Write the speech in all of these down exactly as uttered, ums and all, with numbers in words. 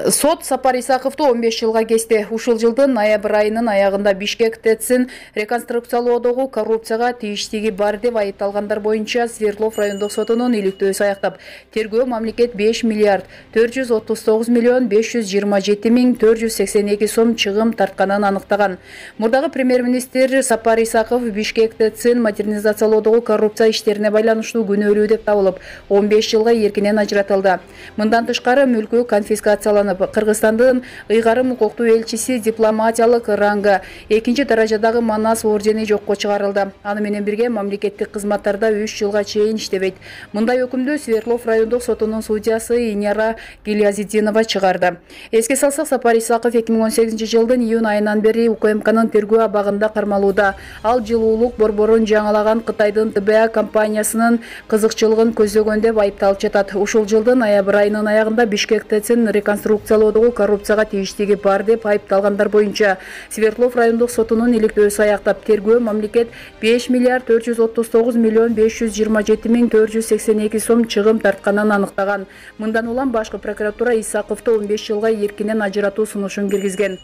Сот Сапар Исаковду он беш жылга кести. Ушул жылдын ноябрь айынын аягында Бишкек ТЭЦин реконструкциялоодогу коррупцияга тийиштиги бар деп айыпталгандар боюнча Свердлов райондук сотунун иликтөөсү аяктап, тергөө мамлекет беш миллиард төрт жүз отуз тогуз миллион беш жүз жыйырма жети миң төрт жүз сексен эки сом чыгым тартканын аныктаган. Мурдагы премьер-министр Сапар Исаков Бишкек ТЭЦин модернизациялоодогу коррупция иштерине байланыштуу күнөөлүү деп табылып, он беш жылга эркинен ажыратылды. Мындан тышкары мүлкү конфискацияланып, Кыргызстандын ыйгарым укуктуу элчиси дипломатиялык рангы экинчи даражадагы Манас ордени жокко чыгарылды. Аны менен бирге мамлекеттик кызматтарда үч жылга чейин иштебейт. Мындай өкүмдү Свердлов райондук сотунун судьясы Иняра Гильязитдинова чыгарды. Эске салсак, Сапар Исаков эки миң он сегизинчи жылдын июнь айынан бери УКМКнын тергөө абагында кармалууда. Ал жылуулук борборун жаңалаган Кытайдын Тэ Бэ А компаниясынын кызыкчылыгын көзөгөн деп айыпталып жатат. Ушул жылдын ноябрь айынын аягында Бишкек ТЭЦин реконструкциялоодогу коррупцияга тийиштиги бар деп айыпталгандар боюнча Свердлов райондук сотунун иликтөөсү аяктап, тергөө мамлекет беш миллиард төрт жүз отуз тогуз миллион беш жүз жыйырма жети миң төрт жүз сексен эки сом чыгым тартканын аныктаган. Мындан улам башкы прокуратура Исаковду он беш жылга эркинен ажыратуу сунушун киргизген.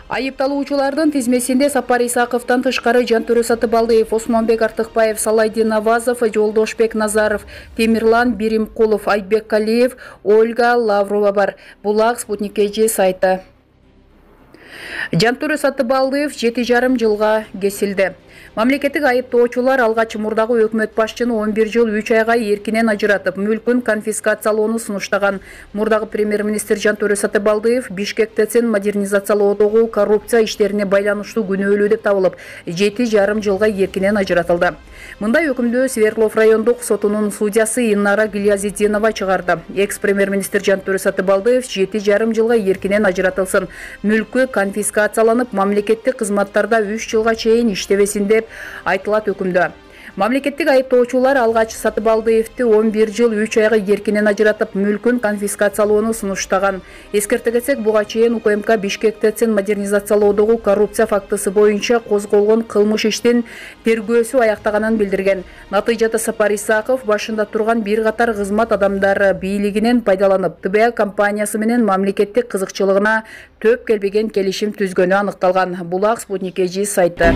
Айыпталуучулардын тизмесинде Сапар Исаковдон тышкары Жантөрө Сатыбалдиев, Осмонбек Артыкбаев, Салайдин Авазов, Жолдошбек Назаров, Темирлан Биримкулов, Айтбек Калиев, Ольга Лаврова бар. Булак Спутник Кж сайты. Жантөрө Сатыбалдиев жети жарым жылга кесилди. Мамлекеттик айыптоочулар алгач мурдагы өкмөт башчыны он бир жыл үч айга эркинен ажыратып, мүлкүн конфискациялоону сунуштаган. Мурдагы премьер-министр Жантөрө Сатыбалдиев Бишкек ТЭЦин модернизациялоодогу коррупция иштерине байланыштуу күнөөлүү деп табылып, жети жарым жылга эркинен ажыратылды. Мындай өкүмдү Свердлов райондук сотунун судьясы Инара Гильязитдинова чыгарды. Экс-премьер-министр Жантөрө Сатыбалдиев жети жарым жылга эркинен ажыратылсын, мүлкү конфискацияланып, мамлекеттик кызматтарда үч жылга чейин иштебесин деп айтылат өкүмдө. Мамлекеттик айыптоочулар алгач Сатыбалдиевди он бир жыл үч айга эркинен ажыратып, мүлкүн конфискациялоону сунуштаган. Эскерте кетсек, буга чейин УКМК Бишкек ТЭЦин модернизациялоодогу коррупция фактысы боюнча козголгон кылмыш иштин тергөөсү аяктаганын билдирген. Натыйжада Сапар Исаков башында турган бир катар кызмат адамдары бийлигинен пайдаланып, Тэ Бэ А компаниясы менен мамлекеттик кызыкчылыгына төп келбеген келишим түзгөнү аныкталган. Булак Спутник Кж сайты.